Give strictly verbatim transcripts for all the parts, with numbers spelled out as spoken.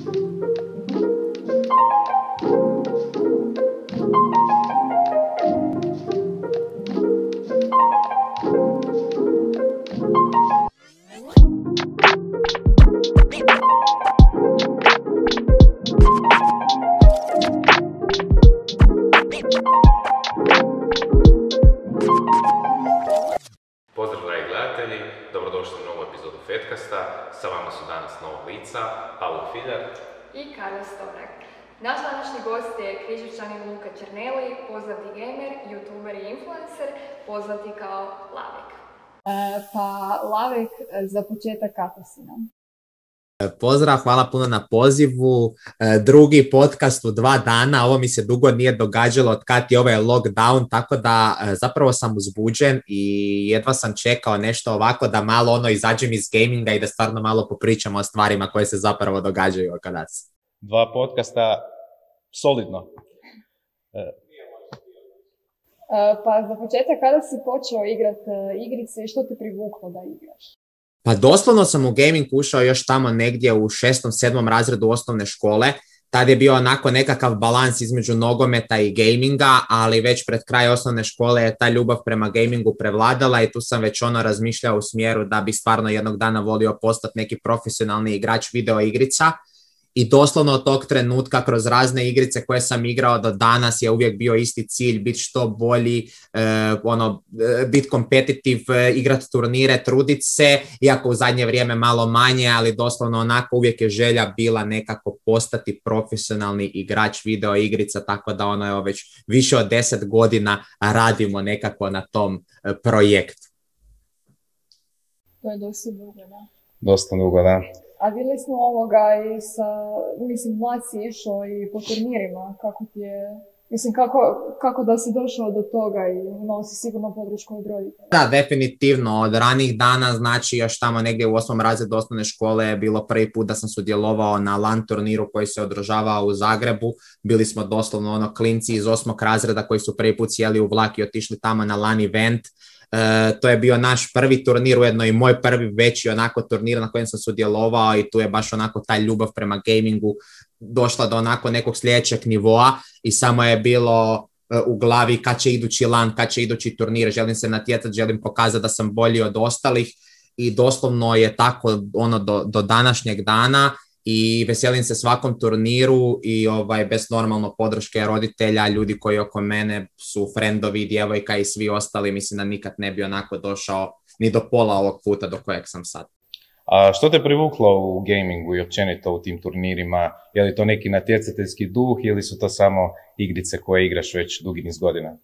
Pozdrav dragi gledatelji, dobrodošli u novu epizodu Fetkasta. Sa vama su danas novog lica, Pavlo Filjar i Karla Storak. Naš današnji gost je Križevčanin Luka Černeli, poznati gamer, youtuber i influencer, poznati kao Lavek. E, pa Lavek, za početak kako si nam? Pozdrav, hvala puno na pozivu. Drugi podcast u dva dana, ovo mi se dugo nije događalo od kad je ovaj lockdown, tako da zapravo sam uzbuđen i jedva sam čekao nešto ovako da malo ono izađem iz gaminga i da stvarno malo popričamo o stvarima koje se zapravo događaju oko nas. Dva podcasta, solidno. E, pa za početak, kada si počeo igrati igrice i što te privuklo da igraš? Pa doslovno sam u gaming ušao još tamo negdje u šestom, sedmom razredu osnovne škole. Tad je bio onako nekakav balans između nogometa i gaminga, ali već pred kraj osnovne škole je ta ljubav prema gamingu prevladala i tu sam već ono razmišljao u smjeru da bi stvarno jednog dana volio postati neki profesionalni igrač video igrica. I doslovno od tog trenutka kroz razne igrice koje sam igrao do danas je uvijek bio isti cilj, biti što bolji, eh, ono, biti kompetitiv, eh, igrati turnire, truditi se, iako u zadnje vrijeme malo manje, ali doslovno onako uvijek je želja bila nekako postati profesionalni igrač video igrica, tako da ono je već više od deset godina radimo nekako na tom eh, projektu. To je dosta dugo, da. Dosta dugo, da. A vidjeli smo ovoga i sa, mislim, mlad si išao i po turnirima, kako ti je, mislim, kako, kako da si došao do toga i imao si sigurno podršku od roditelja? Da, definitivno, od ranih dana, znači još tamo negdje u osmom razredu osnovne škole je bilo prvi put da sam sudjelovao na LAN turniru koji se održavao u Zagrebu. Bili smo doslovno ono klinci iz osmog razreda koji su prvi put sjeli u vlak i otišli tamo na LAN event. Uh, to je bio naš prvi turnir, ujedno i moj prvi veći onako turnir na kojem sam sudjelovao i tu je baš onako ta ljubav prema gamingu došla do onako nekog sljedećeg nivoa i samo je bilo uh, u glavi kad će idući LAN, kad će idući turnir, želim se natjecati, želim pokazati da sam bolji od ostalih i doslovno je tako ono do, do današnjeg dana. I veselim se svakom turniru i ovaj, bez normalno podrške roditelja, ljudi koji oko mene su frendovi, djevojka i svi ostali, mislim da nikad ne bi onako došao ni do pola ovog puta do kojeg sam sad. A što te privuklo u gamingu i općenito u tim turnirima? Je li to neki natjecateljski duh ili su to samo igrice koje igraš već dugi niz godina?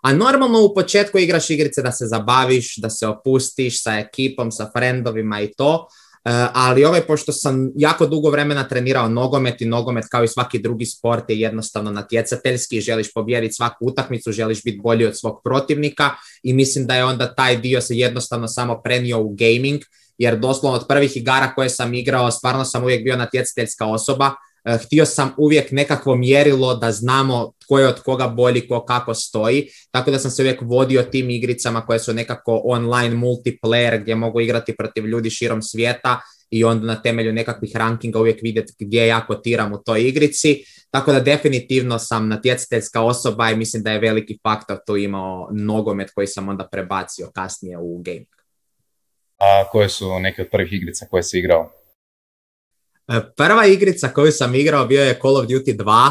A normalno u početku igraš igrice da se zabaviš, da se opustiš sa ekipom, sa frendovima i to. Uh, ali ovaj, pošto sam jako dugo vremena trenirao nogomet i nogomet kao i svaki drugi sport je jednostavno natjecateljski, želiš pobijediti svaku utakmicu, želiš biti bolji od svog protivnika i mislim da je onda taj dio se jednostavno samo prenio u gaming, jer doslovno od prvih igara koje sam igrao stvarno sam uvijek bio natjecateljska osoba. Uh, htio sam uvijek nekakvo mjerilo da znamo tko je od koga bolji, ko kako stoji, tako da sam se uvijek vodio tim igricama koje su nekako online multiplayer gdje mogu igrati protiv ljudi širom svijeta i onda na temelju nekakvih rankinga uvijek vidjeti gdje ja kotiram u toj igrici, tako da definitivno sam natjecateljska osoba i mislim da je veliki faktor tu imao nogomet koji sam onda prebacio kasnije u gaming. A koje su neke od prvih igrica koje si igrao? Prva igrica koju sam igrao bio je Call of Duty dva,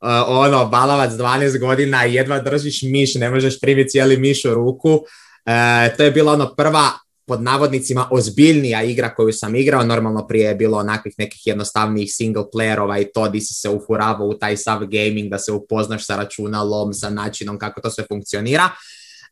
uh, ono, balavac dvanaest godina i jedva držiš miš, ne možeš primiti cijeli miš u ruku. Uh, to je bila ono prva, pod navodnicima, ozbiljnija igra koju sam igrao. Normalno prije je bilo onakvih nekih jednostavnijih single playerova i to di si se ufuravao u taj sav gaming, da se upoznaš sa računalom, sa načinom kako to sve funkcionira.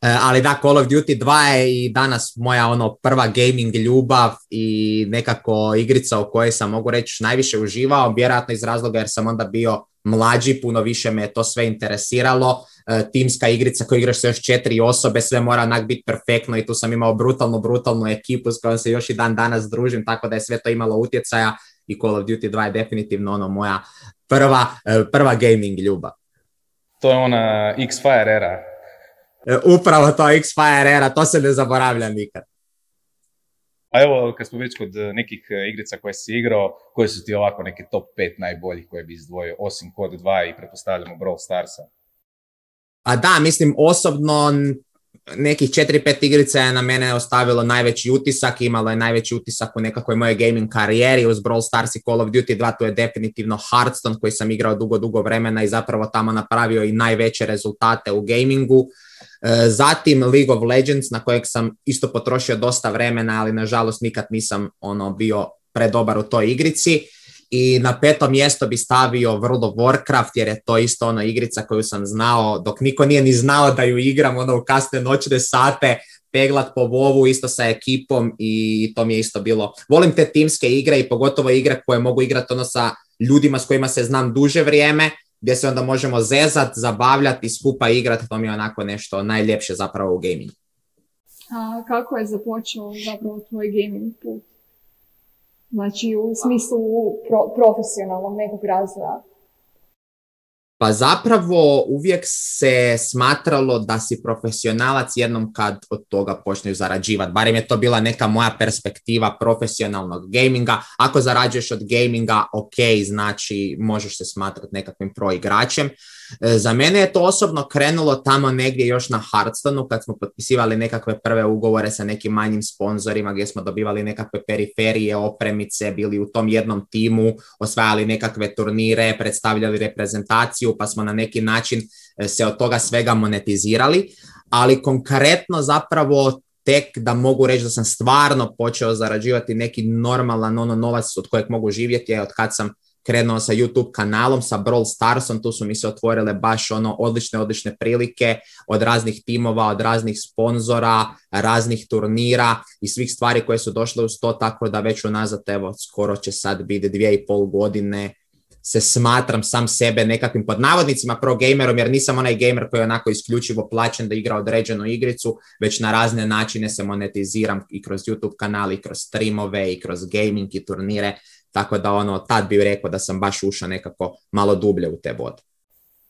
Uh, ali da, Call of Duty dva je i danas moja ono prva gaming ljubav i nekako igrica u kojoj sam, mogu reći, najviše uživao, vjerojatno iz razloga jer sam onda bio mlađi, puno više me to sve interesiralo. Uh, timska igrica koju igraš sa još četiri osobe, sve mora onak biti perfektno i tu sam imao brutalnu, brutalnu ekipu s kojom se još i dan danas družim, tako da je sve to imalo utjecaja i Call of Duty dva je definitivno ono moja prva, uh, prva gaming ljubav. To je ona X-Fire era. Upravo to, X-Fire era, to se ne zaboravlja nikad. A evo, kad smo već kod nekih igrica koje si igrao, koje su ti ovako neke top pet najboljih koje bi izdvojio, osim Code dva i pretpostavljamo Brawl Starsa? A da, mislim, osobno nekih četiri pet igrica je na mene ostavilo najveći utisak, imalo je najveći utisak u nekakvoj moje gaming karijeri, uz Brawl Stars i Call of Duty dva, to je definitivno Hearthstone koji sam igrao dugo, dugo vremena i zapravo tamo napravio i najveće rezultate u gamingu. Zatim League of Legends, na kojeg sam isto potrošio dosta vremena, ali nažalost nikad nisam ono bio predobar u toj igrici. I na peto mjesto bi stavio World of Warcraft, jer je to isto ono igrica koju sam znao dok niko nije ni znao da ju igram, ono u kasne noćne sate, peglat po vovu isto sa ekipom i to mi je isto bilo. Volim te timske igre i pogotovo igre koje mogu igrati ono sa ljudima s kojima se znam duže vrijeme, gdje se onda možemo zezat, zabavljati i skupa igrati, to mi je onako nešto najljepše zapravo u gamingu. A kako je započeo zapravo tvoj gaming put? Znači u smislu pro, profesionalnog nekog razvoja? Pa zapravo uvijek se smatralo da si profesionalac jednom kad od toga počneš zarađivati. Barem je to bila neka moja perspektiva profesionalnog gaminga. Ako zarađuješ od gaminga, ok, znači možeš se smatrati nekakvim pro igračem. Za mene je to osobno krenulo tamo negdje još na Hearthstoneu kad smo potpisivali nekakve prve ugovore sa nekim manjim sponzorima gdje smo dobivali nekakve periferije, opremice, bili u tom jednom timu, osvajali nekakve turnire, predstavljali reprezentaciju, pa smo na neki način se od toga svega monetizirali, ali konkretno zapravo tek da mogu reći da sam stvarno počeo zarađivati neki normalan ono novac od kojeg mogu živjeti je od kad sam krenuo sa YouTube kanalom, sa Brawl Starsom, tu su mi se otvorile baš ono odlične, odlične prilike od raznih timova, od raznih sponzora, raznih turnira i svih stvari koje su došle uz to, tako da već unazad, evo, skoro će sad biti dvije i pol godine se smatram sam sebe nekakvim pod navodnicima pro gamerom, jer nisam onaj gamer koji je onako isključivo plaćen da igra određenu igricu, već na razne načine se monetiziram i kroz YouTube kanal, i kroz streamove, i kroz gaming i turnire, tako da ono, tad bih rekao da sam baš ušao nekako malo dublje u te vode.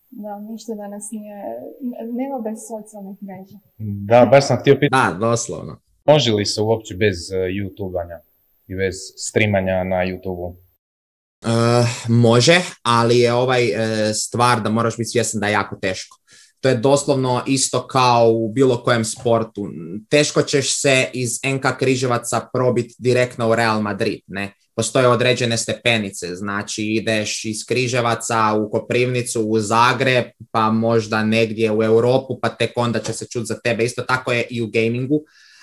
Da, ništa danas nije, nema bez socijalnih mreža. Da, baš sam htio pitati. Da, doslovno. Može li se uopće bez uh, YouTube-anja i bez streamanja na YouTube-u? Uh, može, ali je ovaj uh, stvar da moraš biti svjestan da je jako teško. To je doslovno isto kao u bilo kojem sportu. Teško ćeš se iz en ka Križevaca probiti direktno u Real Madrid, ne? Postoje određene stepenice, znači ideš iz Križevaca u Koprivnicu, u Zagreb, pa možda negdje u Europu, pa tek onda će se čuti za tebe. Isto tako je i u gamingu.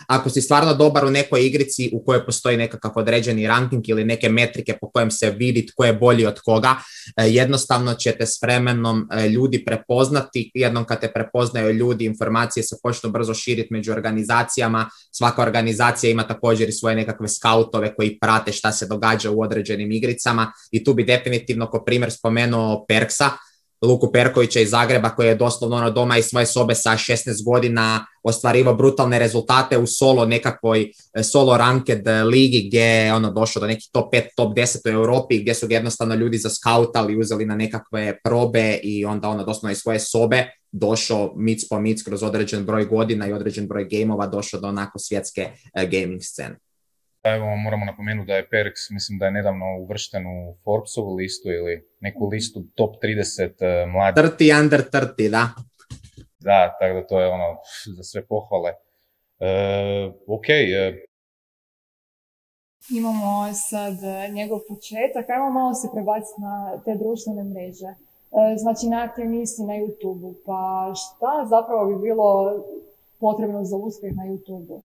Ako si stvarno dobar u nekoj igrici u kojoj postoji nekakav određeni ranking ili neke metrike po kojem se vidi tko je bolji od koga, jednostavno ćete s vremenom ljudi prepoznati. Jednom kad te prepoznaju ljudi, informacije se počnu brzo širiti među organizacijama. Svaka organizacija ima također i svoje nekakve skautove koji prate šta se događa u određenim igricama i tu bi definitivno ko primjer spomenuo Perksa, Luku Perkovića iz Zagreba, koji je doslovno ono doma iz svoje sobe sa šesnaest godina ostvarivao brutalne rezultate u solo nekakvoj solo ranked ligi gdje je ono došao do nekih top pet, top deset u Europi, gdje su ga jednostavno ljudi zaskautali, uzeli na nekakve probe i onda ono doslovno iz svoje sobe došao mic po mic kroz određen broj godina i određen broj gameova došao do onako svjetske uh, gaming scene. Evo, moramo napomenuti da je Perks, mislim da je nedavno uvršten u Forbesovu listu ili neku listu top trideset uh, mladih. trideset under trideset, da. Da, tako da to je ono za sve pohvale. Uh, ok. Uh... Imamo sad njegov početak, ajmo malo se prebaciti na te društvene mreže. Znači, najaktivniji si na YouTube-u, pa šta zapravo bi bilo potrebno za uspjeh na YouTube-u?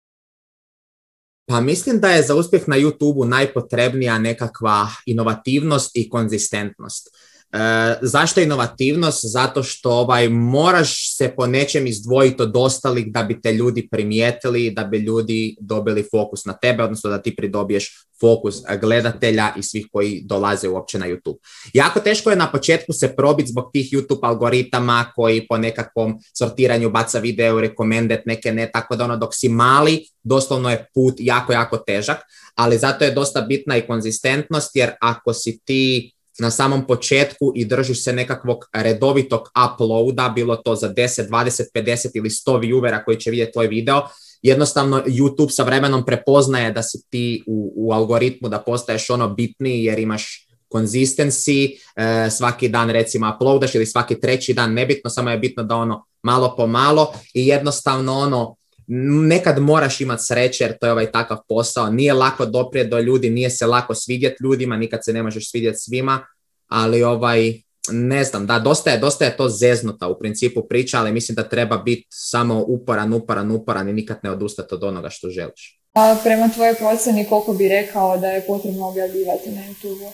Pa mislim da je za uspjeh na YouTube-u najpotrebnija nekakva inovativnost i konzistentnost. E, zašto inovativnost? Zato što ovaj, moraš se po nečem izdvojiti od ostalih da bi te ljudi primijetili, da bi ljudi dobili fokus na tebe, odnosno da ti pridobiješ fokus gledatelja i svih koji dolaze uopće na YouTube. Jako teško je na početku se probiti zbog tih YouTube algoritama koji po nekakvom sortiranju baca video, recommended, neke ne, tako da ono dok si mali, doslovno je put jako, jako težak, ali zato je dosta bitna i konzistentnost, jer ako si ti na samom početku i držiš se nekakvog redovitog uploada, bilo to za deset, dvadeset, pedeset ili sto viewera koji će vidjeti tvoj video, jednostavno YouTube sa vremenom prepoznaje da si ti u, u algoritmu, da postaješ ono bitniji jer imaš consistency, e, svaki dan recimo uploadaš ili svaki treći dan, nebitno, samo je bitno da ono malo po malo i jednostavno ono, nekad moraš imati sreće jer to je ovaj takav posao, nije lako doprijeti do ljudi, nije se lako svidjeti ljudima, nikad se ne možeš svidjeti svima, ali ovaj, ne znam, da, dosta je, dosta je to zeznuta u principu priča, ali mislim da treba biti samo uporan, uporan, uporan i nikad ne odustati od onoga što želiš. A prema tvojoj procjeni koliko bi rekao da je potrebno objavljivati na YouTube-u?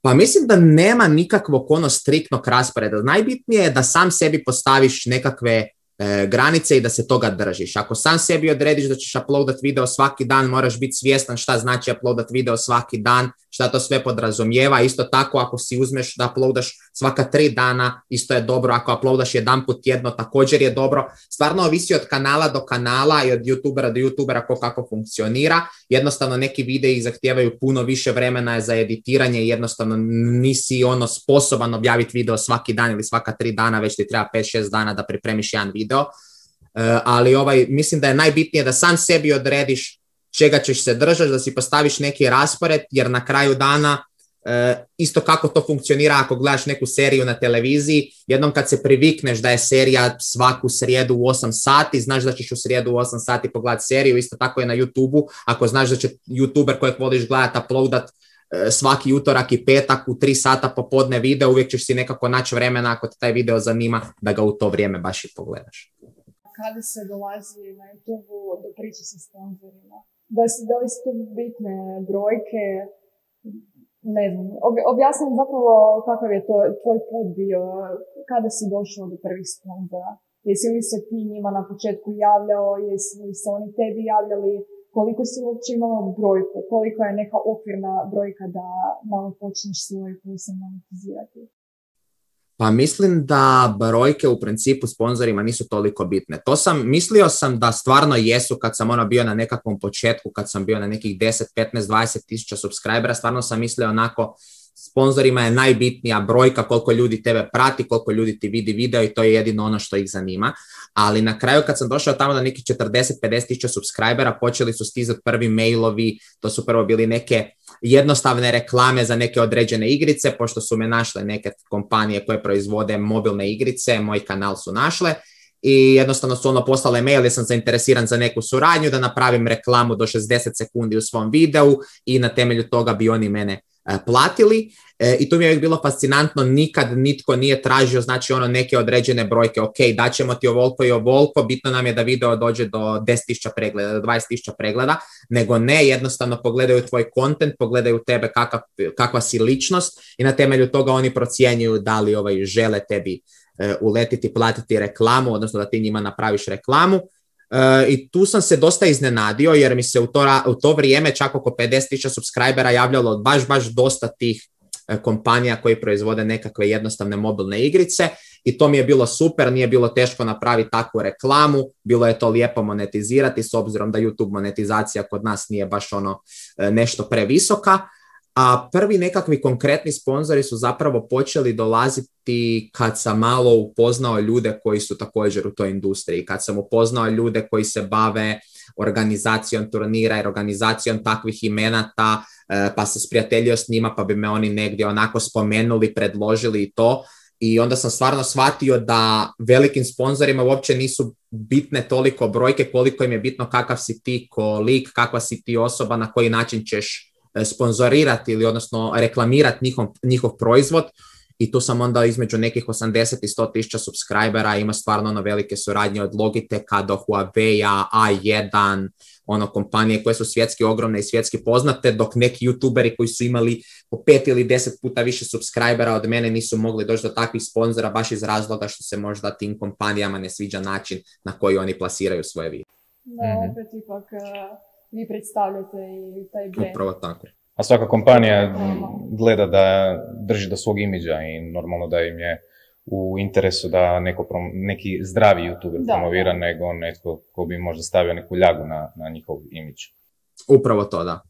Pa mislim da nema nikakvog ono striktnog rasporeda. Najbitnije je da sam sebi postaviš nekakve e, granice i da se toga držiš. Ako sam sebi odrediš da ćeš uploadat video svaki dan, moraš biti svjestan šta znači uploadat video svaki dan, šta to sve podrazumijeva. Isto tako ako si uzmeš da uploadaš svaka tri dana, isto je dobro. Ako uploadaš jedan put tjedno, također je dobro. Stvarno ovisi od kanala do kanala i od youtubera do youtubera ko kako funkcionira. Jednostavno neki videi zahtijevaju puno više vremena za editiranje i jednostavno nisi ono sposoban objaviti video svaki dan ili svaka tri dana, već ti treba pet šest dana da pripremiš jedan video. Uh, ali ovaj, mislim da je najbitnije da sam sebi odrediš čega ćeš se držati, da si postaviš neki raspored, jer na kraju dana e, isto kako to funkcionira ako gledaš neku seriju na televiziji, jednom kad se privikneš da je serija svaku srijedu u osam sati, znaš da ćeš u srijedu u osam sati pogledati seriju, isto tako je na YouTube-u, ako znaš da će YouTuber kojeg voliš gledati uploadat e, svaki utorak i petak u tri sata popodne video, uvijek ćeš si nekako naći vremena ako te taj video zanima da ga u to vrijeme baš i pogledaš. Kada se dolazi na YouTube-u do priče sa sponzorima? Da, da li su tu bitne brojke, ne znam, objasnim zapravo kakav je to tvoj put bio, kada si došao do prvih sponzora, jesi li se ti njima na početku javljao, jesi li se oni tebi javljali, koliko si uopće imala brojku, koliko je neka okvirna brojka da malo počneš svoj posao monetizirati? Pa mislim da brojke u principu sponzorima nisu toliko bitne. To sam, mislio sam da stvarno jesu kad sam ono bio na nekakvom početku, kad sam bio na nekih deset, petnaest, dvadeset tisuća subscribera, stvarno sam mislio onako, sponzorima je najbitnija brojka koliko ljudi tebe prati, koliko ljudi ti vidi video i to je jedino ono što ih zanima. Ali na kraju kad sam došao tamo na nekih četrdeset do pedeset tisuća subscribera, počeli su stizati prvi mailovi, to su prvo bili neke jednostavne reklame za neke određene igrice, pošto su me našle neke kompanije koje proizvode mobilne igrice, moj kanal su našle i jednostavno su ono poslale mail jer sam zainteresiran za neku suradnju, da napravim reklamu do šezdeset sekundi u svom videu i na temelju toga bi oni mene platili e, i to mi je bilo fascinantno, nikad nitko nije tražio znači ono neke određene brojke, ok, daćemo ti ovoliko i ovoliko, bitno nam je da video dođe do deset tisuća pregleda, do dvadeset tisuća pregleda, nego ne, jednostavno pogledaju tvoj content, pogledaju tebe kakav, kakva si ličnost i na temelju toga oni procjenjuju da li ovaj, žele tebi e, uletiti, platiti reklamu, odnosno da ti njima napraviš reklamu. Uh, i tu sam se dosta iznenadio jer mi se u to, u to vrijeme čak oko pedeset tisuća subscribera javljalo baš, baš dosta tih uh, kompanija koji proizvode nekakve jednostavne mobilne igrice i to mi je bilo super, nije bilo teško napraviti takvu reklamu, bilo je to lijepo monetizirati s obzirom da YouTube monetizacija kod nas nije baš ono uh, nešto previsoka. A prvi nekakvi konkretni sponzori su zapravo počeli dolaziti kad sam malo upoznao ljude koji su također u toj industriji, kad sam upoznao ljude koji se bave organizacijom turnira i organizacijom takvih imenata, pa se sprijateljio s njima, pa bi me oni negdje onako spomenuli, predložili i to. I onda sam stvarno shvatio da velikim sponzorima uopće nisu bitne toliko brojke koliko im je bitno kakav si ti ko lik, kakva si ti osoba, na koji način ćeš sponzorirati ili odnosno reklamirati njihov, njihov proizvod i tu sam onda između nekih osamdeset i sto tisuća subscribera, ima stvarno ono velike suradnje od Logiteka do Huawei-a, A jedan, ono kompanije koje su svjetski ogromne i svjetski poznate, dok neki youtuberi koji su imali po pet ili deset puta više subscribera od mene nisu mogli doći do takvih sponzora baš iz razloga što se možda tim kompanijama ne sviđa način na koji oni plasiraju svoje video. Da, opet ipak vi predstavljate i taj brand. Upravo tako. A svaka kompanija gleda da drži do svog imidža i normalno da im je u interesu da neko prom, neki zdravi youtuber promovira da. Nego netko ko bi možda stavio neku ljagu na, na njihov imidž. Upravo to, da.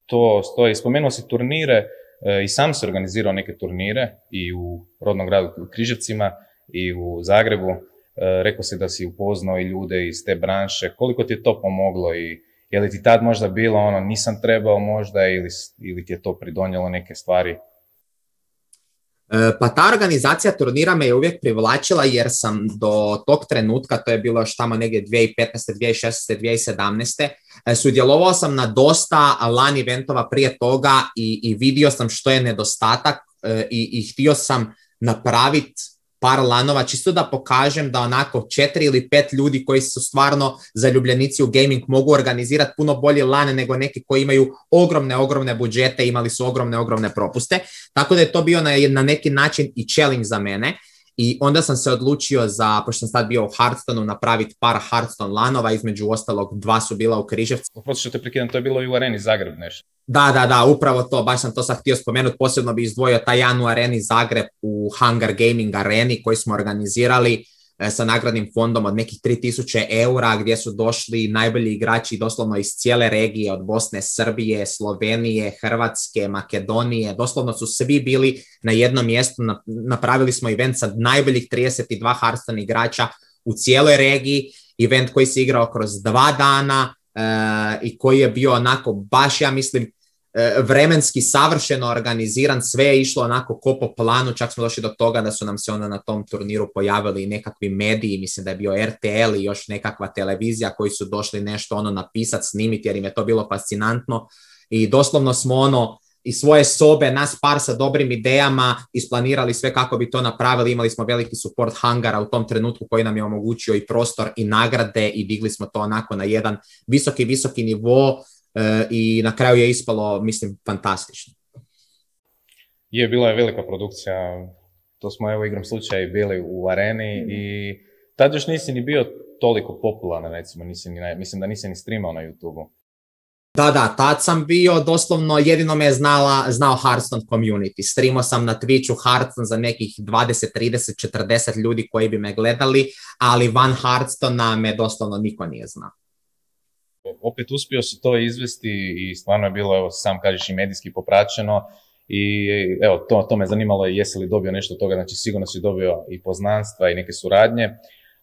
To stoji. Spomenuo si turnire, e, i sam se organizirao neke turnire i u rodnom gradu u Križevcima i u Zagrebu. rekao si da si upoznao i ljude iz te branše, koliko ti je to pomoglo i je li ti tad možda bilo ono nisam trebao možda ili, ili ti je to pridonijelo neke stvari? Pa ta organizacija turnira me je uvijek privlačila jer sam do tog trenutka, to je bilo još tamo negdje dvije tisuće petnaeste, dvije tisuće šesnaeste, dvije tisuće sedamnaeste. Sudjelovao sam na dosta LAN eventova prije toga i, i vidio sam što je nedostatak i, i htio sam napraviti par lanova, čisto da pokažem da onako četiri ili pet ljudi koji su stvarno zaljubljenici u gaming mogu organizirati puno bolji lan nego neki koji imaju ogromne, ogromne budžete, imali su ogromne, ogromne propuste. Tako da je to bio na, na neki način i challenge za mene. I onda sam se odlučio za, pošto sam sad bio u Hearthstoneu, napraviti par Hearthstone lanova, između ostalog dva su bila u Križevcu. Oprosti što te prekidam, to je bilo i u Areni Zagreb nešto. Da, da, da, upravo to, baš sam to sad htio spomenuti, posebno bi izdvojio taj jedan u Areni Zagreb u Hunger Gaming areni koji smo organizirali e, sa nagradnim fondom od nekih tri tisuće eura gdje su došli najbolji igrači doslovno iz cijele regije, od Bosne, Srbije, Slovenije, Hrvatske, Makedonije, doslovno su svi bili na jednom mjestu, napravili smo event sa najboljih trideset dva Hearthstone igrača u cijeloj regiji, event koji se igrao kroz dva dana e, i koji je bio onako baš, ja mislim, vremenski savršeno organiziran, sve je išlo onako ko po planu, čak smo došli do toga da su nam se onda na tom turniru pojavili nekakvi mediji, mislim da je bio R T L i još nekakva televizija koji su došli nešto ono napisati, snimiti jer im je to bilo fascinantno i doslovno smo ono iz svoje sobe, nas par sa dobrim idejama, isplanirali sve kako bi to napravili, imali smo veliki support hangara u tom trenutku koji nam je omogućio i prostor i nagrade i digli smo to onako na jedan visoki, visoki nivo. Uh, i na kraju je ispalo, mislim, fantastično. Je, bila je velika produkcija, to smo evo igram slučaj bili u areni mm. i tad još nisi ni bio toliko popularan, recimo, nisi ni, mislim da nisi ni streamao na YouTubeu. Da, da, tad sam bio, doslovno jedino me je znala, znao Hearthstone community. Streamao sam na Twitchu Hearthstone za nekih dvadeset, trideset, četrdeset ljudi koji bi me gledali, ali van Hearthstonea me doslovno niko nije znao. Opet uspio si to izvesti i stvarno je bilo, evo sam kažeš, i medijski popraćeno i evo, to, to me zanimalo je jesi li dobio nešto od toga, znači sigurno si dobio i poznanstva i neke suradnje.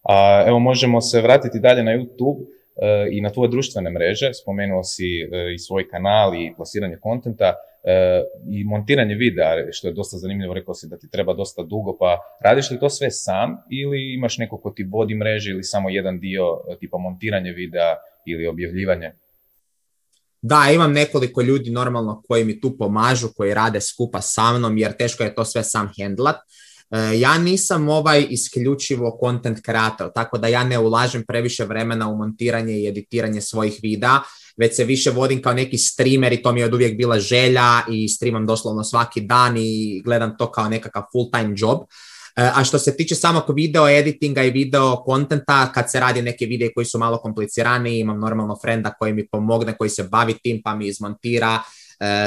A, evo možemo se vratiti dalje na YouTube e, i na tvoje društvene mreže, spomenuo si e, i svoj kanal i plasiranje kontenta e, i montiranje videa, što je dosta zanimljivo, rekao si da ti treba dosta dugo, pa radiš li to sve sam ili imaš neko ko ti vodi mreže ili samo jedan dio tipa montiranje videa ili objavljivanje? Da, imam nekoliko ljudi normalno koji mi tu pomažu, koji rade skupa sa mnom, jer teško je to sve sam hendlat. E, ja nisam ovaj isključivo content creator, tako da ja ne ulažem previše vremena u montiranje i editiranje svojih videa, već se više vodim kao neki streamer i to mi je od uvijek bila želja i streamam doslovno svaki dan i gledam to kao nekakav full time job. A što se tiče samog video editinga i video kontenta, kad se radi neke videe koji su malo kompliciraniji, imam normalno frenda koji mi pomogne, koji se bavi tim pa mi izmontira,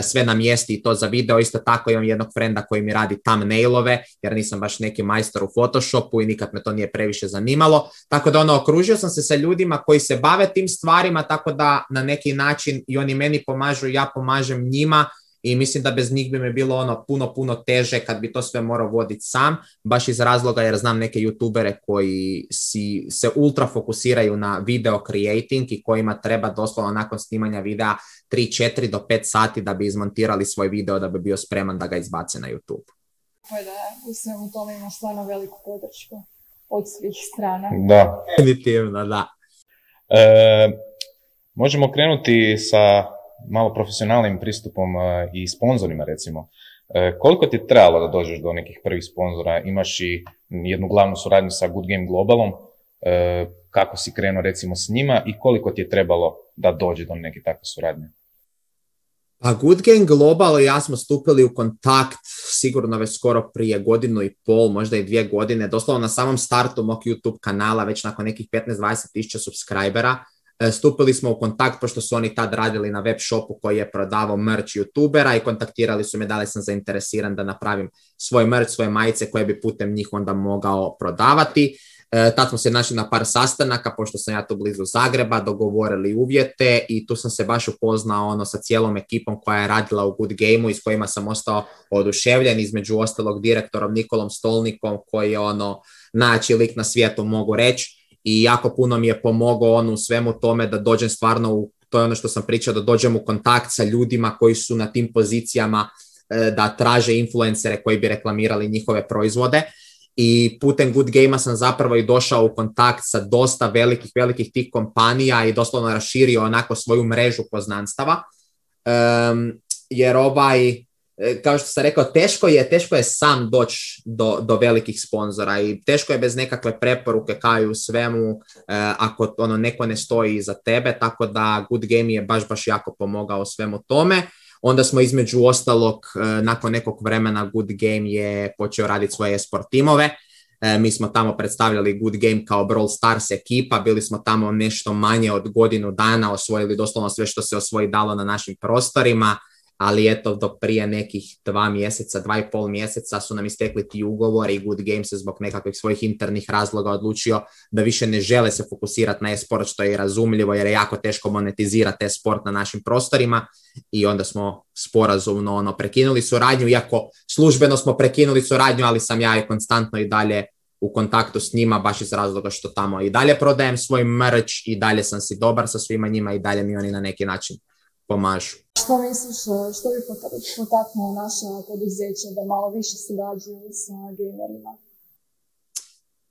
sve na mjesti i to za video. Isto tako imam jednog frenda koji mi radi thumbnailove, jer nisam baš neki majstor u Photoshopu i nikad me to nije previše zanimalo. Tako da ono, okružio sam se sa ljudima koji se bave tim stvarima, tako da na neki način i oni meni pomažu i ja pomažem njima. I mislim da bez njih bi mi bilo ono puno, puno teže kad bi to sve morao voditi sam, baš iz razloga jer znam neke youtubere koji si, se ultra fokusiraju na video creating i kojima treba doslovno nakon snimanja videa tri, četiri do pet sati da bi izmontirali svoj video da bi bio spreman da ga izbace na YouTube. Da, u svemu tome ima stvarno veliku podršku od svih strana. Da. Definitivno, da. E, možemo krenuti sa malo profesionalnim pristupom i sponzorima, recimo. E, koliko ti je trebalo da dođeš do nekih prvih sponzora? Imaš i jednu glavnu suradnju sa Good Game Globalom. E, kako si krenuo, recimo, s njima i koliko ti je trebalo da dođe do neke takve suradnje? A Good Game Global i ja smo stupili u kontakt sigurno već skoro prije godinu i pol, možda i dvije godine, doslovno na samom startu mog YouTube kanala, već nakon nekih petnaest do dvadeset tisuća subscribera. Stupili smo u kontakt pošto su oni tad radili na web shopu koji je prodavao merch youtubera i kontaktirali su me da li sam zainteresiran da napravim svoj merch, svoje majice koje bi putem njih onda mogao prodavati. E, tad smo se našli na par sastanaka, pošto sam ja tu blizu Zagreba, dogovorili uvjete i tu sam se baš upoznao ono, sa cijelom ekipom koja je radila u Good Gameu i s kojima sam ostao oduševljen, između ostalog direktorom Nikolom Stolnikom, koji je ono najjači lik na svijetu, mogu reći, i jako puno mi je pomogao on u svemu tome da dođem stvarno u, to je ono što sam pričao, da dođem u kontakt sa ljudima koji su na tim pozicijama, da traže influencere koji bi reklamirali njihove proizvode. I putem Good Gamea sam zapravo i došao u kontakt sa dosta velikih, velikih tih kompanija i doslovno raširio onako svoju mrežu poznanstava. Um, jer ovaj, kao što sam rekao, teško je, teško je sam doći do, do velikih sponzora i teško je bez nekakve preporuke kao i u svemu uh, ako ono, neko ne stoji iza tebe, tako da Good Game je baš, baš jako pomogao svemu tome. Onda smo između ostalog, nakon nekog vremena Good Game je počeo raditi svoje esport timove. Mi smo tamo predstavljali Good Game kao Brawl Stars ekipa, bili smo tamo nešto manje od godinu dana, osvojili doslovno sve što se osvoji dalo na našim prostorima, ali eto do prije nekih dva mjeseca, dva i pol mjeseca su nam istekli ti ugovori i Good Game se zbog nekakvih svojih internih razloga odlučio da više ne žele se fokusirati na e-sport, što je razumljivo jer je jako teško monetizirati e-sport na našim prostorima i onda smo sporazumno ono, prekinuli suradnju, iako službeno smo prekinuli suradnju, ali sam ja i konstantno i dalje u kontaktu s njima, baš iz razloga što tamo i dalje prodajem svoj merch i dalje sam si dobar sa svima njima i dalje mi oni na neki način pomažu. Što misliš, što bi potaknulo naša poduzeća da malo više surađuju sa gamerima?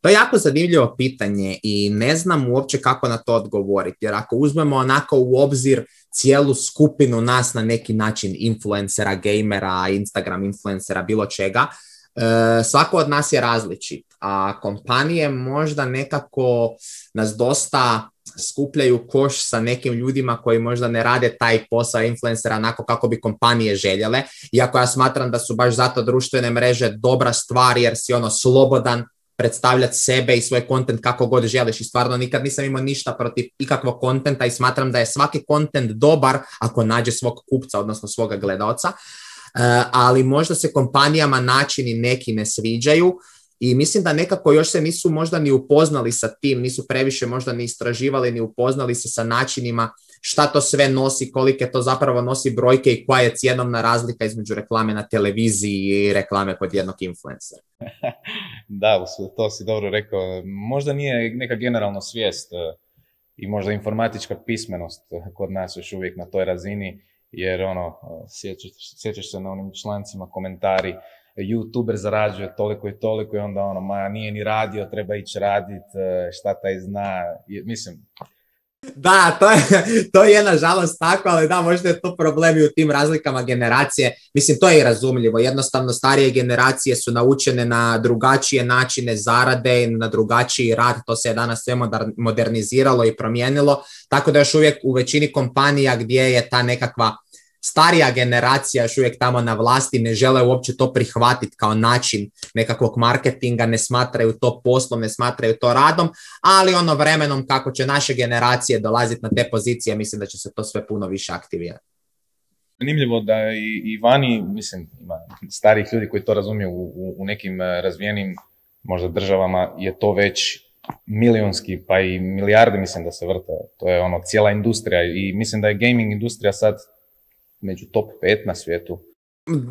To je jako zanimljivo pitanje i ne znam uopće kako na to odgovoriti, jer ako uzmemo onako u obzir cijelu skupinu nas na neki način influencera, gamera, Instagram influencera, bilo čega, e, svako od nas je različit, a kompanije možda nekako nas dosta skupljaju koš sa nekim ljudima koji možda ne rade taj posao influencera onako kako bi kompanije željele, iako ja smatram da su baš zato društvene mreže dobra stvar jer si ono slobodan predstavljati sebe i svoj kontent kako god želiš i stvarno nikad nisam imao ništa protiv ikakvog kontenta i smatram da je svaki kontent dobar ako nađe svog kupca, odnosno svoga gledaoca, uh, ali možda se kompanijama načini neki ne sviđaju. I mislim da nekako još se nisu možda ni upoznali sa tim, nisu previše možda ni istraživali, ni upoznali se sa načinima šta to sve nosi, kolike to zapravo nosi brojke i koja je cjenovna razlika između reklame na televiziji i reklame kod jednog influencera. Da, to si dobro rekao. Možda nije neka generalna svijest i možda informatička pismenost kod nas još uvijek na toj razini, jer ono, sjećaš, sjećaš se na onim člancima, komentari, YouTuber zarađuje toliko i toliko i onda ono, ma nije ni radio, treba ići radit, šta taj zna, mislim. Da, to je, to je nažalost tako, ali da, možda je to problem i u tim razlikama generacije. Mislim, to je i razumljivo. Jednostavno, starije generacije su naučene na drugačije načine zarade, na drugačiji rad. To se je danas sve moderniziralo i promijenilo. Tako da još uvijek u većini kompanija gdje je ta nekakva starija generacija još uvijek tamo na vlasti ne žele uopće to prihvatiti kao način nekakvog marketinga, ne smatraju to poslom, ne smatraju to radom, ali ono vremenom kako će naše generacije dolaziti na te pozicije, mislim da će se to sve puno više aktivirati. Zanimljivo da i, i vani, mislim, ima starih ljudi koji to razumiju u, u, u nekim razvijenim možda državama je to već milionski, pa i milijarde mislim da se vrte. To je ono cijela industrija i mislim da je gaming industrija sad među top pet na svijetu.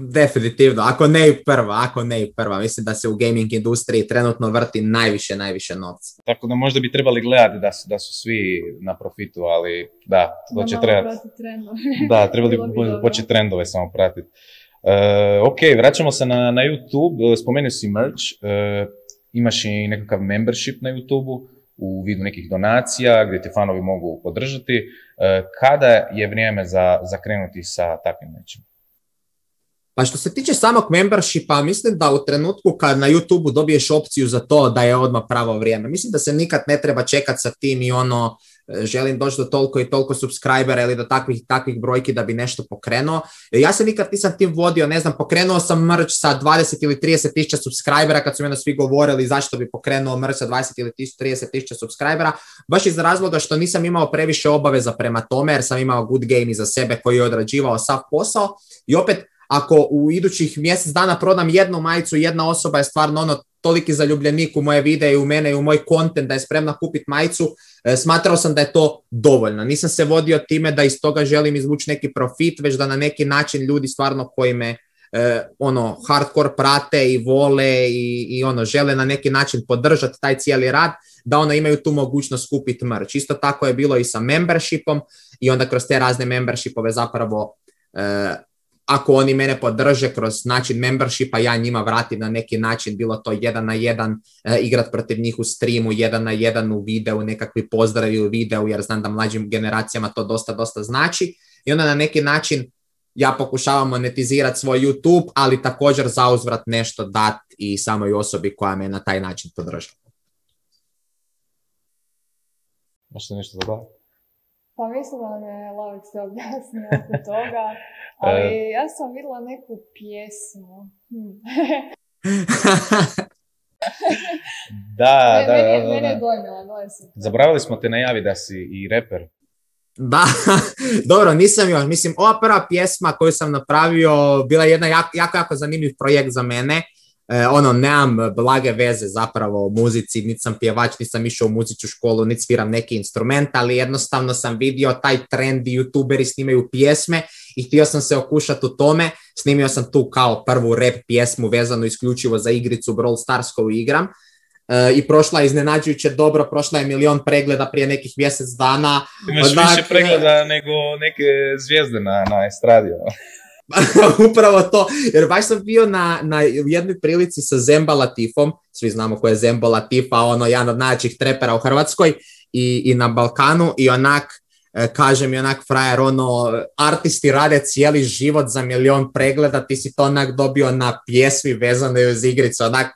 Definitivno, ako ne i prva, ako ne i prva. Mislim da se u gaming industriji trenutno vrti najviše, najviše novca. Tako da možda bi trebali gledati da su, da su svi na profitu, ali da, to će trebati. Da, trebali bi početi trendove samo pratiti. Uh, ok, vraćamo se na, na YouTube, spomenuo si merch, uh, imaš i nekakav membership na YouTube-u u vidu nekih donacija gdje te fanovi mogu podržati. Kada je vrijeme za, za krenuti sa takvim nečim? Pa što se tiče samog membershipa, mislim da u trenutku kad na YouTube dobiješ opciju za to da je odmah pravo vrijeme. Mislim da se nikad ne treba čekati sa tim i ono želim doći do toliko i toliko subscribera ili do takvih takvih brojki da bi nešto pokrenuo. Ja se nikad nisam tim vodio, ne znam, pokrenuo sam merch sa dvadeset ili trideset tisuća subscribera kad su mi svi govorili zašto bi pokrenuo merch sa dvadeset ili trideset tisuća subscribera, baš iz razloga što nisam imao previše obaveza prema tome jer sam imao Good Game iza sebe koji je odrađivao sav posao i opet ako u idućih mjesec dana prodam jednu majicu, jedna osoba je stvarno ono toliki zaljubljenik u moje videe i u mene i u moj content da je spremna kupiti majicu, e, smatrao sam da je to dovoljno. Nisam se vodio time da iz toga želim izvući neki profit, već da na neki način ljudi stvarno koji me e, ono, hardcore prate i vole i, i ono, žele na neki način podržati taj cijeli rad, da ono imaju tu mogućnost kupiti merch. Isto tako je bilo i sa membershipom i onda kroz te razne membershipove zapravo e, ako oni mene podrže kroz način membershipa, ja njima vratim na neki način, bilo to jedan na jedan, e, igrat protiv njih u streamu, jedan na jedan u videu, nekakvi pozdravi u videu, jer znam da mlađim generacijama to dosta, dosta znači. I onda na neki način ja pokušavam monetizirati svoj YouTube, ali također zauzvrat nešto dat i samoj osobi koja me na taj način podržava. Možete nešto zabaviti? Pa mislim da me Lavik se objasnio oko toga, ali ja sam vidjela neku pjesmu. Hm. da, ne, da, mene, da, da. Mene je dojmila, dojmila sam. Zaboravili smo te najavi da si i reper. Da, dobro, nisam još. Mislim, ova prva pjesma koju sam napravio bila jedna jako, jako, jako zanimljiv projekt za mene. E, ono, nemam blage veze zapravo o muzici, niti sam pjevač, niti sam išao u muzičku školu, niti sviram neki instrument, ali jednostavno sam vidio taj trend i youtuberi snimaju pjesme i htio sam se okušati u tome. Snimio sam tu kao prvu rap pjesmu vezanu isključivo za igricu Brawl Stars koju igram. Uh, i prošla je iznenađujuće dobro, prošla je milion pregleda prije nekih mjesec dana. Imaš Odak... više pregleda nego neke zvijezde na, na estradi. Upravo to, jer baš sam bio na, na jednoj prilici sa Zemba Latifom, svi znamo ko je Zemba Latifa, ono jedan od najjačih trepera u Hrvatskoj i, i na Balkanu i onak, kaže mi onak frajer, ono, artisti rade cijeli život za milion pregleda, ti si to onak dobio na pjesmi vezane uz igricu, onak,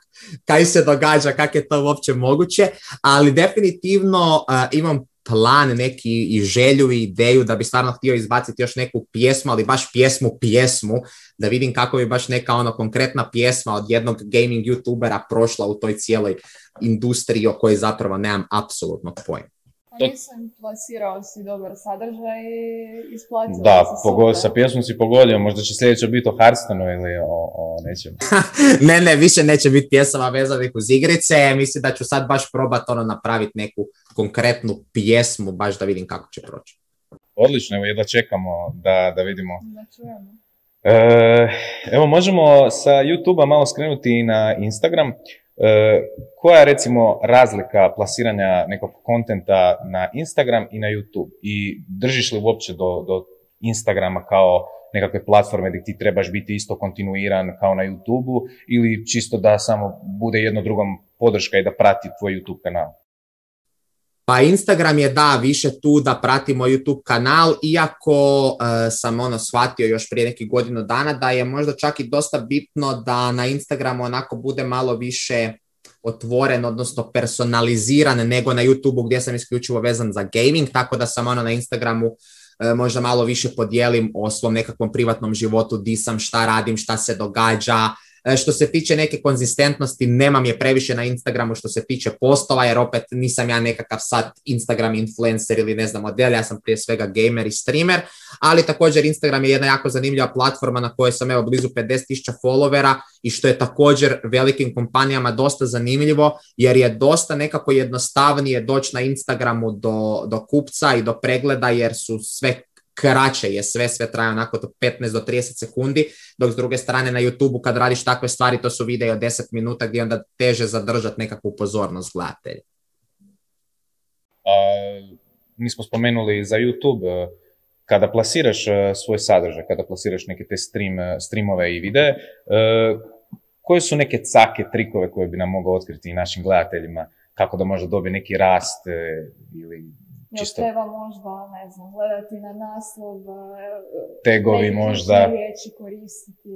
kaj se događa, kako je to uopće moguće, ali definitivno uh, imam plan neki i želju i ideju da bi stvarno htio izbaciti još neku pjesmu, ali baš pjesmu pjesmu, da vidim kako bi baš neka ono konkretna pjesma od jednog gaming youtubera prošla u toj cijeloj industriji o kojoj zapravo nemam apsolutno pojma. A nisam plasirao si dobar sadržaj i isplatio da, pogod, sa pjesmom si pogodio, možda će sljedeće biti o Hearthstoneu ili o, o nečemu. ne, ne, više neće biti pjesama vezanih uz igrice, mislim da ću sad baš probati ono napraviti neku konkretnu pjesmu, baš da vidim kako će proći. Odlično, evo jedva čekamo da, da vidimo. Da čujemo. E, evo, možemo sa YouTube-a malo skrenuti na Instagram. E, koja je recimo razlika plasiranja nekog kontenta na Instagram i na YouTube? I držiš li uopće do, do Instagrama kao nekakve platforme gdje ti trebaš biti isto kontinuiran kao na YouTube-u ili čisto da samo bude jedno drugom podrška i da prati tvoj YouTube kanal? Pa Instagram je da više tu da pratimo YouTube kanal, iako uh, sam ono shvatio još prije nekih godinu dana da je možda čak i dosta bitno da na Instagramu onako bude malo više otvoren, odnosno personaliziran nego na YouTubeu gdje sam isključivo vezan za gaming, tako da sam ono na Instagramu uh, možda malo više podijelim o svom nekakvom privatnom životu, di sam, šta radim, šta se događa. Što se tiče neke konzistentnosti, nemam je previše na Instagramu što se tiče postova, jer opet nisam ja nekakav sad Instagram influencer ili ne znam model, ja sam prije svega gamer i streamer, ali također Instagram je jedna jako zanimljiva platforma na kojoj sam evo blizu pedeset tisuća followera i što je također velikim kompanijama dosta zanimljivo, jer je dosta nekako jednostavnije doći na Instagramu do, do kupca i do pregleda, jer su sve kraće je sve, sve traje onako do petnaest do trideset sekundi, dok s druge strane na YouTubeu kad radiš takve stvari, to su videi od deset minuta gdje onda teže zadržati nekakvu pozornost gledatelja. A, nismo spomenuli za YouTube, kada plasiraš svoj sadržaj, kada plasiraš neke te stream, streamove i videe, koje su neke cake, trikove koje bi nam mogao otkriti i našim gledateljima, kako da možda dobije neki rast ili čisto... Jel treba možda, ne znam, gledati na naslov, tegovi možda, riječi koristiti?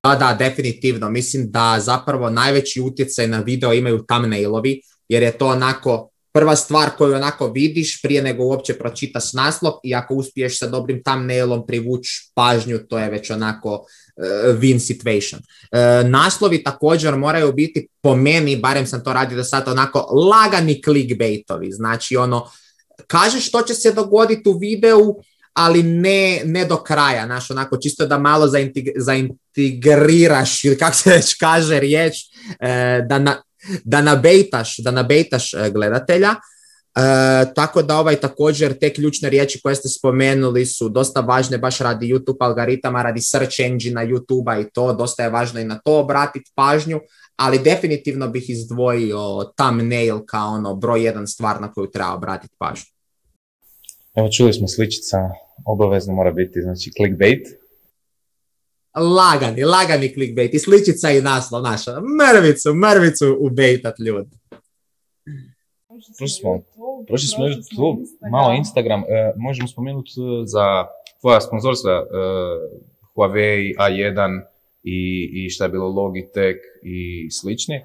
Da, da, definitivno. Mislim da zapravo najveći utjecaj na video imaju thumbnailovi, jer je to onako prva stvar koju onako vidiš prije nego uopće pročitaš naslov i ako uspiješ sa dobrim thumbnailom privući pažnju, to je već onako uh, win situation. Uh, naslovi također moraju biti, po meni, barem sam to radio do sada, onako lagani clickbaitovi, znači ono, kažeš što će se dogoditi u videu, ali ne, ne do kraja, znaš, onako čisto da malo zaintig- zaintegriraš, ili kako se već kaže riječ, e, da, na, da nabejtaš, da nabejtaš gledatelja. E, tako da ovaj također te ključne riječi koje ste spomenuli su dosta važne baš radi YouTube algoritama, radi search engine YouTube-a i to, dosta je važno i na to obratiti pažnju, ali definitivno bih izdvojio thumbnail kao ono broj jedan stvar na koju treba obratiti pažnju. Evo čuli smo sličica, obavezno mora biti, znači clickbait. Lagani, lagani clickbait i sličica i naslov naša, mrvicu, mrvicu ubejtat ljudi. Prošli smo, prošli smo YouTube, malo Instagram, e, možemo spomenuti za tvoja sponzorstva e, Huawei, A jedan i, i šta je bilo Logitech i slični. E,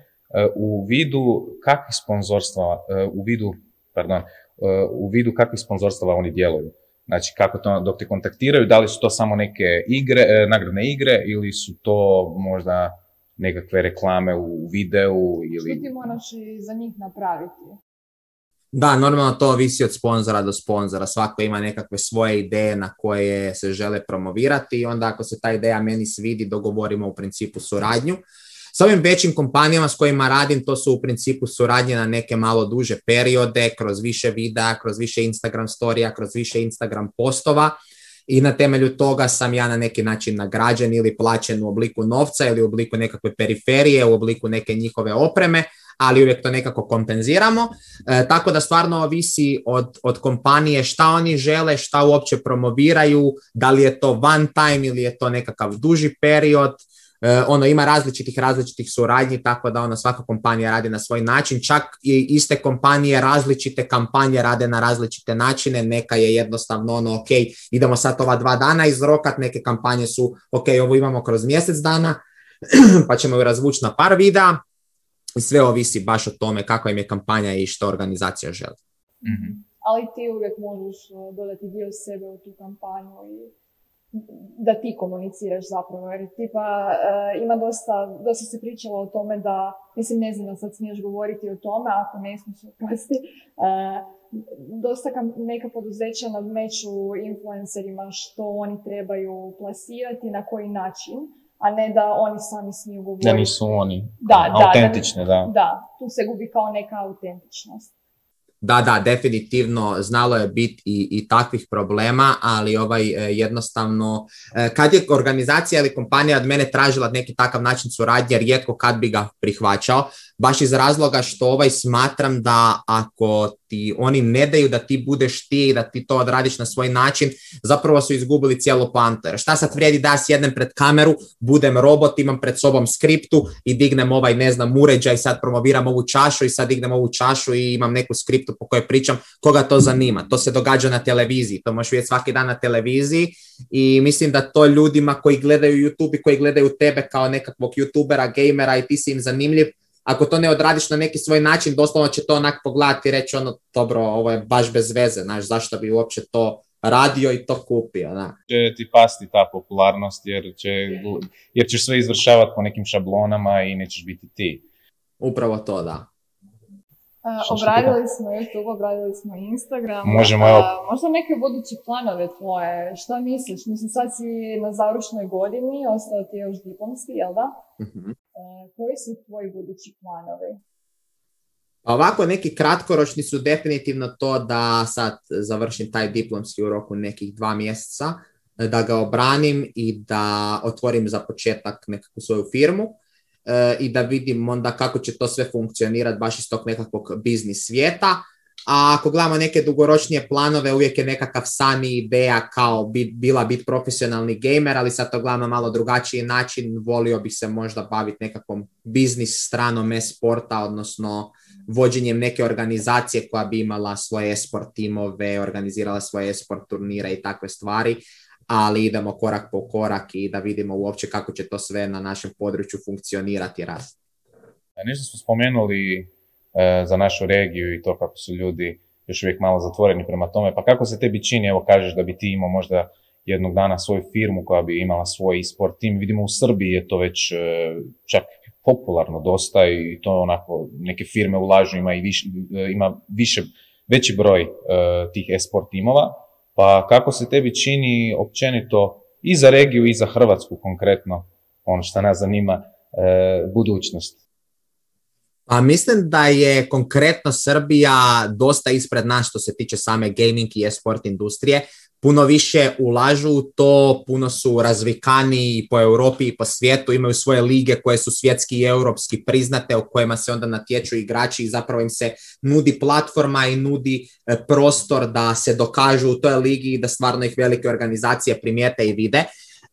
u vidu kakvih sponzorstva, e, u vidu, pardon, e, u vidu kakvih sponzorstava oni djeluju. Znači, kako to, dok te kontaktiraju, da li su to samo neke igre, e, nagradne igre ili su to možda nekakve reklame u videu ili... Što ti moraš i za njih napraviti? Da, normalno to ovisi od sponzora do sponzora. Svako ima nekakve svoje ideje na koje se žele promovirati i onda ako se ta ideja meni svidi, dogovorimo u principu suradnju. S ovim većim kompanijama s kojima radim, to su u principu suradnje na neke malo duže periode, kroz više videa, kroz više Instagram storija, kroz više Instagram postova i na temelju toga sam ja na neki način nagrađen ili plaćen u obliku novca ili u obliku nekakve periferije, u obliku neke njihove opreme, ali uvijek to nekako kompenziramo. E, tako da stvarno ovisi od, od kompanije šta oni žele, šta uopće promoviraju, da li je to one time ili je to nekakav duži period. E, ono ima različitih različitih suradnji, tako da ono svaka kompanija radi na svoj način, čak i iste kompanije različite kampanje rade na različite načine, neka je jednostavno ono ok, idemo sad ova dva dana izrokat, neke kampanje su ok, ovo imamo kroz mjesec dana, pa ćemo ju razvući na par videa i sve ovisi baš o tome kakva im je kampanja i što organizacija želi. Mm-hmm. Ali ti uvijek možeš dodati dio sebe u tu kampanju i da ti komuniciraš zapravo, jer tipa uh, ima dosta, dosta se pričalo o tome da, mislim ne znam da sad smiješ govoriti o tome, ako ne smiješ, oprosti, uh, dosta kam, neka poduzeća nadmeću influencerima što oni trebaju plasirati, na koji način, a ne da oni sami smiju govoriti. Da nisu oni da, autentične, da, da. Da, tu se gubi kao neka autentičnost. Da, da, definitivno znalo je biti i, i takvih problema, ali ovaj e, jednostavno, e, kad je organizacija ili kompanija od mene tražila neki takav način suradnje, rijetko kad bi ga prihvaćao, baš iz razloga što ovaj smatram da ako ti oni ne daju da ti budeš ti i da ti to odradiš na svoj način, zapravo su izgubili cijelu poantu. Šta sad vrijedi da ja sjednem pred kameru, budem robot, imam pred sobom skriptu i dignem ovaj, ne znam, uređaj, sad promoviram ovu čašu i sad dignem ovu čašu i imam neku skriptu po kojoj pričam, koga to zanima. To se događa na televiziji, to možeš vidjeti svaki dan na televiziji i mislim da to ljudima koji gledaju YouTube i koji gledaju tebe kao nekakvog youtubera, gamera i ti si im zanimljiv, ako to ne odradiš na neki svoj način, doslovno će to onak pogledati i reći ono, dobro, ovo je baš bez veze, znaš, zašto bi uopće to radio i to kupio, da. Će ti pasti ta popularnost jer, će, jer ćeš sve izvršavati po nekim šablonama i nećeš biti ti. Upravo to, da. Uh, obradili smo YouTube, obradili smo Instagram. Možemo, uh, evo. Možda neke buduće planove tvoje, šta misliš? Mislim, sad si na završnoj godini, ostao ti još diplomski, jel da? Uh-huh. Uh, koji su tvoji budući planovi? Ovako, neki kratkoročni su definitivno to da sad završim taj diplomski u roku nekih dva mjeseca, da ga obranim i da otvorim za početak nekakvu svoju firmu. I da vidim onda kako će to sve funkcionirati baš iz tog nekakvog biznis svijeta. A ako gledamo neke dugoročnije planove, uvijek je nekakav san i ideja kao bit, bila biti profesionalni gamer, ali sad to gledamo malo drugačiji način. Volio bih se možda baviti nekakvom biznis stranom e-sporta, odnosno vođenjem neke organizacije koja bi imala svoje e-sport timove, organizirala svoje e-sport turnire i takve stvari. Ali idemo korak po korak i da vidimo uopće kako će to sve na našem području funkcionirati i rasti. Nešto smo spomenuli e, za našu regiju i to kako su ljudi još uvijek malo zatvoreni prema tome, pa kako se tebi čini, evo kažeš da bi ti imao možda jednog dana svoju firmu koja bi imala svoj e-sport tim, vidimo u Srbiji je to već e, čak popularno dosta i to onako neke firme ulažu, ima i više, ima više, veći broj e, tih e-sport timova. Pa kako se tebi čini općenito i za regiju i za Hrvatsku konkretno, ono što nas zanima, e, budućnost? Pa mislim da je konkretno Srbija dosta ispred nas što se tiče same gaming i e-sport industrije. Puno više ulažu u to, puno su razvikaniji po Europi i po svijetu, imaju svoje lige koje su svjetski i europski priznate, u kojima se onda natječu igrači i zapravo im se nudi platforma i nudi prostor da se dokažu u toj ligi i da stvarno ih velike organizacije primijete i vide.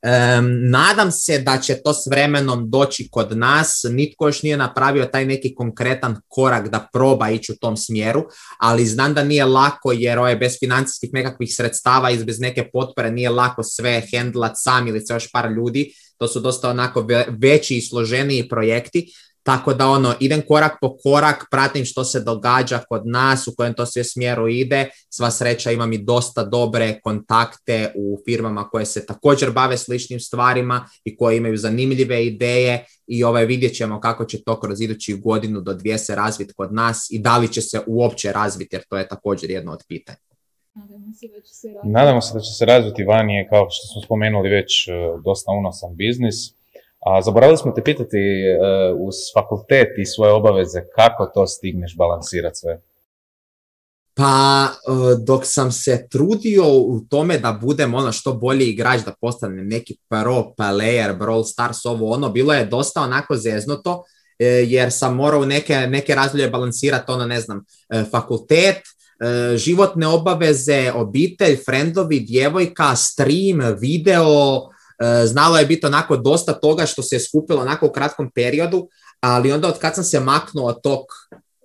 Um, nadam se da će to s vremenom doći kod nas, nitko još nije napravio taj neki konkretan korak da proba ići u tom smjeru, ali znam da nije lako jer ovaj, bez financijskih nekakvih sredstava i bez neke potpore nije lako sve hendlat sam ili sve još par ljudi, to su dosta onako veći i složeniji projekti. Tako da ono, idem korak po korak, pratim što se događa kod nas, u kojem to sve smjeru ide. Sva sreća, imam i dosta dobre kontakte u firmama koje se također bave sličnim stvarima i koje imaju zanimljive ideje i ovaj, vidjet ćemo kako će to kroz idućih godinu do dvije se razviti kod nas i da li će se uopće razviti, jer to je također jedno od pitanja. Nadamo se da će se razviti. Nadamo se da će se razviti van je, kao što smo spomenuli, već dosta unosan biznis. A zaboravili smo te pitati uh, uz fakultet i svoje obaveze, kako to stigneš balansirati sve? Pa dok sam se trudio u tome da budem ono što bolji igrač, da postanem neki pro player, Brawl Stars, ovo ono, bilo je dosta onako zeznuto, jer sam morao neke, neke razdoblje balansirati, ono ne znam, fakultet, životne obaveze, obitelj, friendovi, djevojka, stream, video. Znalo je biti onako dosta toga što se je skupilo onako u kratkom periodu, ali onda od kad sam se maknuo od tog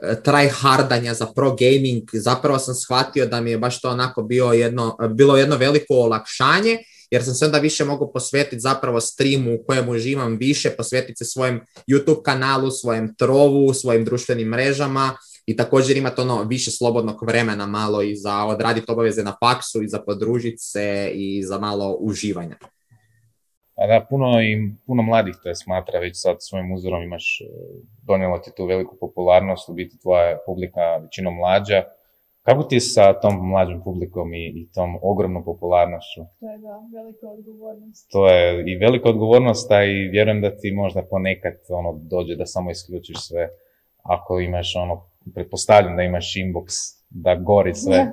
tryhardanja za pro gaming, zapravo sam shvatio da mi je baš to onako bio jedno, bilo jedno veliko olakšanje, jer sam se onda više mogao posvetiti zapravo streamu u kojem uživam više, posvetiti se svojem YouTube kanalu, svojem trovu, svojim društvenim mrežama i također imati ono više slobodnog vremena malo i za odraditi obaveze na faksu i za podružiti se i za malo uživanja. A da, puno, i, puno mladih te smatra već sad svojim uzorom, imaš, donijelo ti tu veliku popularnost, u biti tvoja publika većinom mlađa. Kako ti sa tom mlađom publikom i, i tom ogromnom popularnošću? To je da, velika odgovornost. To je i velika odgovornost, a i vjerujem da ti možda ponekad ono, dođe da samo isključiš sve. Ako imaš ono, pretpostavljam da imaš inbox, da gori sve.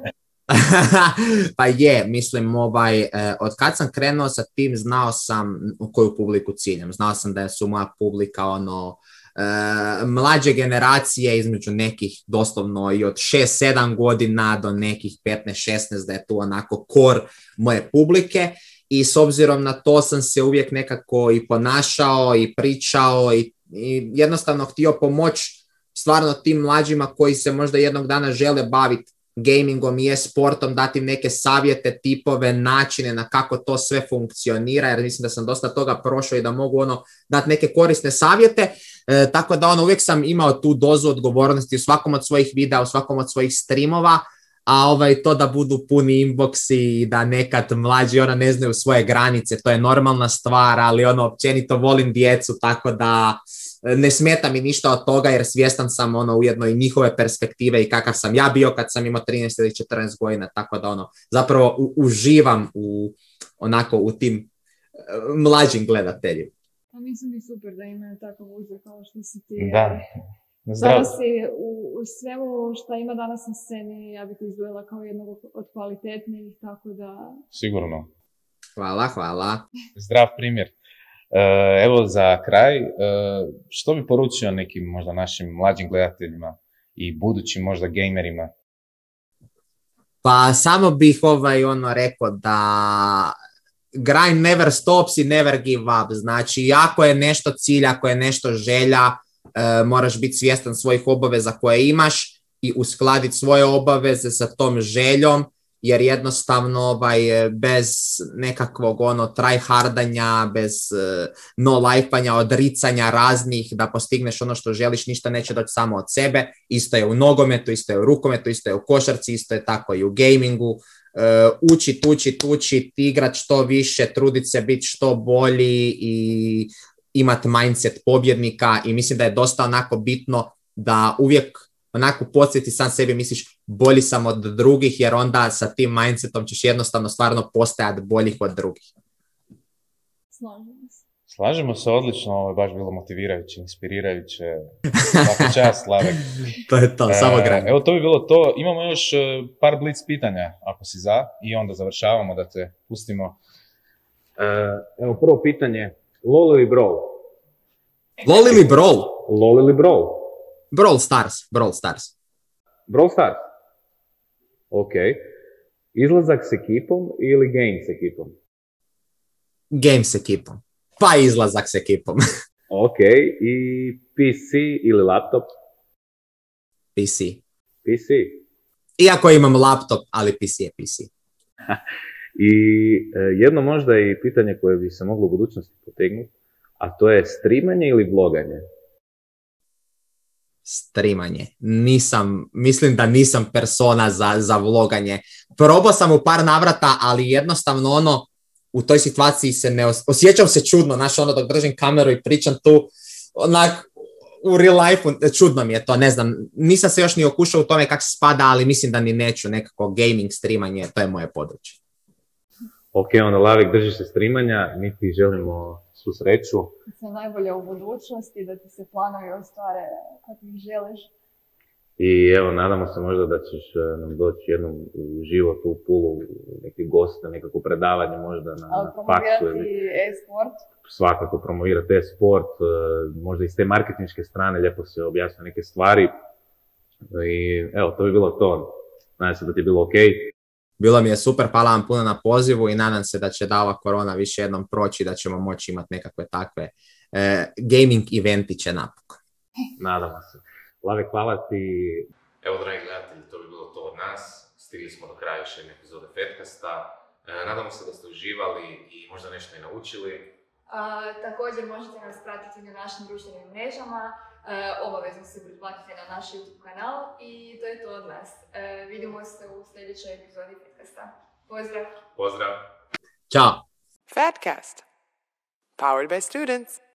Pa je, mislim, ovaj, eh, od kad sam krenuo sa tim, znao sam koju publiku ciljam. Znao sam da su moja publika ono, eh, mlađe generacije između nekih doslovno i od šest sedam godina do nekih petnaest šesnaest, da je tu onako core moje publike. I s obzirom na to sam se uvijek nekako i ponašao i pričao i, i jednostavno htio pomoći stvarno tim mlađima koji se možda jednog dana žele baviti gamingom i e-sportom, dati im neke savjete, tipove, načine na kako to sve funkcionira, jer mislim da sam dosta toga prošao i da mogu ono dati neke korisne savjete, e, tako da ono uvijek sam imao tu dozu odgovornosti u svakom od svojih videa, u svakom od svojih streamova, a ovaj, to da budu puni inboxi i da nekad mlađi ona ne znaju svoje granice, to je normalna stvar, ali ono općenito volim djecu, tako da ne smeta mi ništa od toga jer svjestan sam ono ujedno i njihove perspektive i kakav sam ja bio kad sam imao trinaest ili četrnaest godina, tako da ono zapravo u, uživam u, onako u tim uh, mlađim gledateljima. A mislim i super da imaju takav uzor kao što si ti. Da. Zdravo si u, u svemu što ima danas na sceni, ja bih izdvojila kao jednog od kvalitetnijih, tako da... Sigurno. Hvala, hvala. Zdrav primjer. Evo za kraj, što bi poručio nekim možda našim mlađim gledateljima i budućim možda gamerima? Pa samo bih ovaj ono rekao da grind never stops i never give up. Znači, ako je nešto cilj, ako je nešto želja, moraš biti svjestan svojih obaveza koje imaš i uskladiti svoje obaveze sa tom željom, jer jednostavno ovaj, bez nekakvog ono tryhardanja, bez uh, no lifeanja, odricanja raznih da postigneš ono što želiš, ništa neće doći samo od sebe. Isto je u nogometu, isto je u rukometu, isto je u košarci, isto je tako i u gamingu. Uh, učit, učit, učit, igrat što više, trudit se biti što bolji i imati mindset pobjednika i mislim da je dosta onako bitno da uvijek onako podsjeti sam sebi, misliš bolji sam od drugih, jer onda sa tim mindsetom ćeš jednostavno stvarno postajati boljih od drugih. Slažem se. Slažemo se odlično, ovo je baš bilo motivirajuće, inspirirajuće. Svaka čast, Slavek. To je to, samo granje. Evo, to bi bilo to. Imamo još par blic pitanja, ako si za, i onda završavamo da te pustimo. Evo, prvo pitanje. LOL ili Brawl? LOL ili Brawl? LOL ili Brawl? Brawl Stars, Brawl Stars. Brawl Stars? Ok. Izlazak s ekipom ili game s ekipom? Game s ekipom. Pa izlazak s ekipom. Ok. I P C ili laptop? P C. P C. Iako imam laptop, ali P C je P C. I e, jedno možda i pitanje koje bi se moglo u budućnosti potegnuti, a to je streamanje ili vloganje? Streamanje. Nisam, mislim da nisam persona za, za vloganje. Probao sam u par navrata, ali jednostavno ono, u toj situaciji se ne os- osjećam se čudno, znaš, ono dok držim kameru i pričam tu, onak, u real life čudno mi je to, ne znam, nisam se još ni okušao u tome kako se spada, ali mislim da ni neću, nekako gaming, streamanje, to je moje područje. Ok, onda Lavik, držiš se streamanja, mi ti želimo svu sreću. Sve najbolje u budućnosti, da ti se planovi ostvare kako ih želiš. I evo, nadamo se možda da ćeš nam doći jednom u život u Pulu, neki gost, na nekako predavanje možda na, na faksu. Promovirati e-sport. Svakako promovirati e-sport, možda iz te marketinške strane lijepo se objasnio neke stvari. I evo, to bi bilo to. Nadam se da ti je bilo ok. Bilo mi je super, hvala vam puno na pozivu i nadam se da će da ova korona više jednom proći, da ćemo moći imati nekakve takve eh, gaming eventiće napokon. Nadamo se. Lave, hvala ti. Evo, dragi gledatelji, to bi bilo to od nas. Stigli smo do kraja još jedne epizode Fetkasta. E, nadamo se da ste uživali i možda nešto i naučili. A, također možete nas pratiti na našim društvenim mrežama, e, obavezno se pretplatite na naš YouTube kanal i to je to od nas. E, vidimo se u sljedećoj epizodi Fetkasta. Pozdrav! Pozdrav! Ćao! Fatcast, powered by students.